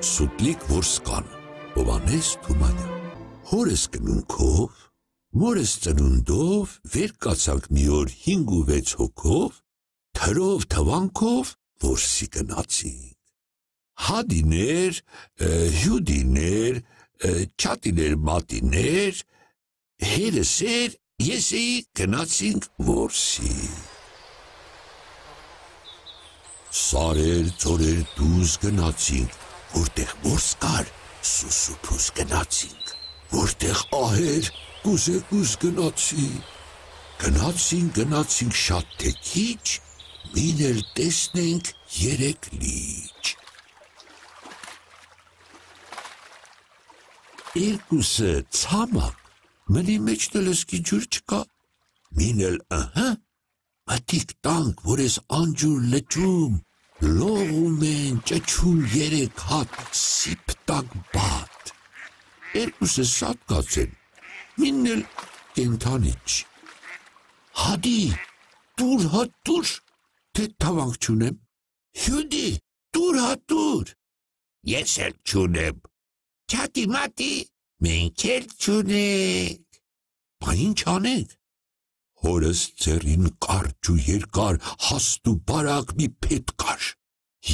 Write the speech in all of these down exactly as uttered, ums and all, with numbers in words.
Սուտլիկ որսկան, Հովհաննես Թումանյան։ Հորս կնունքով, մորս ծնունդով, վեր կացանք մի օր հինգ ու վեց հոգով, թրով թվանքով որսի գնացինք։ Հադիներ, հյուդիներ, չատիներ մատիներ, հերս էր, ես էի գնացինք որսի։ Սարեր, ծորեր դուզ գնացինք, որտեղ որս կար, սուսուփուս գնացինք, որտեղ ահեր, կուզեկուզ գնացինք, գնացինք, գնացինք շատ թե քիչ, մին էլ տեսնենք երեք լիճ։ Երկուսը ցամաք, մնի մեջն էլ ըսկի ջուր չկա, մին էլ ըհը, մտիկ տանք, որ ես անջուր լճում, լողում են ճչում երեք հատ սիպտակ բատ, երկուսը սատկած են, մինն էլ կենթանիչ։ Հադի, տուր հատ տուր, թե թավանք չունեմ, հյուդի, տուր հատ տուր, ես էլ չունեմ, չատի մատի, մենք էլ չունենք, բա ինչ անենք, հորս ձեռին կարճ ու երկար հաստ ու բարակ մի փետ կար,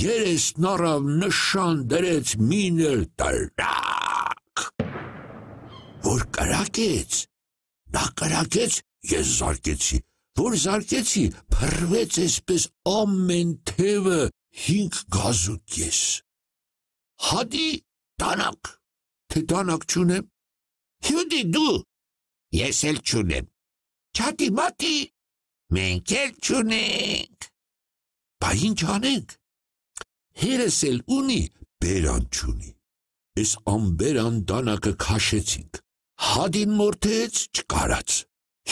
երեսն առավ նշան դրեց մին էլ տրակ, որ կրակեց, նա կրակեց, ես զարկեցի, որ զարկեցի, փռվեց այսպես ամեն թևը հինգ գազուկես, հադի դանակ, թե դանակ չունեմ, հյուդի դու, ես էլ չունեմ, չատի մատի, մենք էլ չունենք, բա ինչ անենք, հերս էլ ունի, բերան չունի, ես ամբերան դանակը քաշեցինք, հադին մորթեց, չկարած,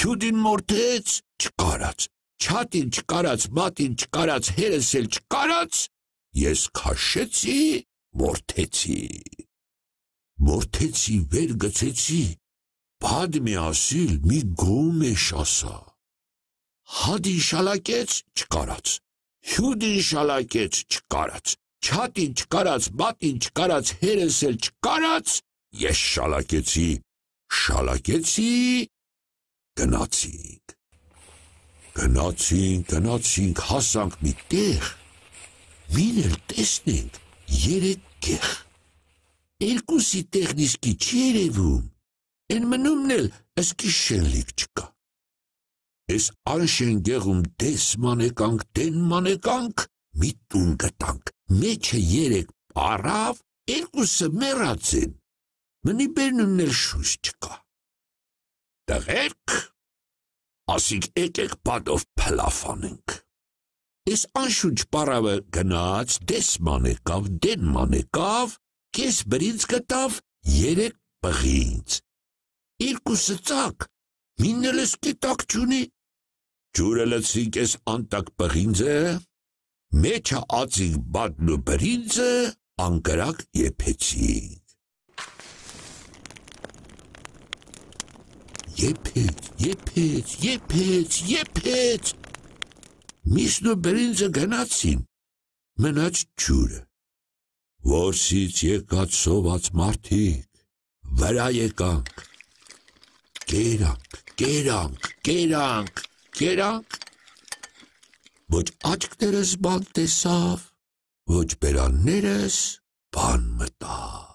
հյուդին մորթեց, չկարած, չատին չկարած, մատին չկարած, հերս էլ չկարած, ես քաշեցի, մորթեցի, մորթեցի, վեր գցեցի, բադ մի ասիլ, մի գոմեշ ասա, հադին շալակեց, չկարած, հյուդին շալակեց, չկարած, չատին չկարած, մատին չկարած, հերս էլ չկարած, ես շալակեցի, շալակեցի, գնացինք, գնացինք, գնացինք, հասանք մի տեղ, մին էլ տեսնենք երեք գեղ, երկուսի տեղն իսկի չի երևում, են մնումն էլ ըսկի շենլիկ չկա, ես անշեն գեղում դես մանեկանք, դեն մանեկանք, մի տուն գտանք, մեջը երեք պարավ, երկուսը մեռած են, մնի բերնումն էլ շուշ չկա, տղերք, ասիկ եկեք բադով փլաֆ անենք, ես անշուչ պարավը գնաց, դես մանեկավ, դեն մանեկավ, կես բրինց գտավ, երեք բղինց, երկուսը ծակ, մին էլ ըսկի տակ չունի, ջուրը լցրինք ես անտակ բղինձը, մեջը ածինք բադն ու բրինձը, անկրակ եփեցինք, եփեց, եփեց, եփեց, եփեց, միսն ու բրինձը գնացին, մնաց ջուրը, որսից եկած սոված մարդիկ, վրա եկանք, կերանք, կերանք, կերանք, կերանք, ոչ աչքներս բան տեսավ, ոչ բերաններս բան մտավ,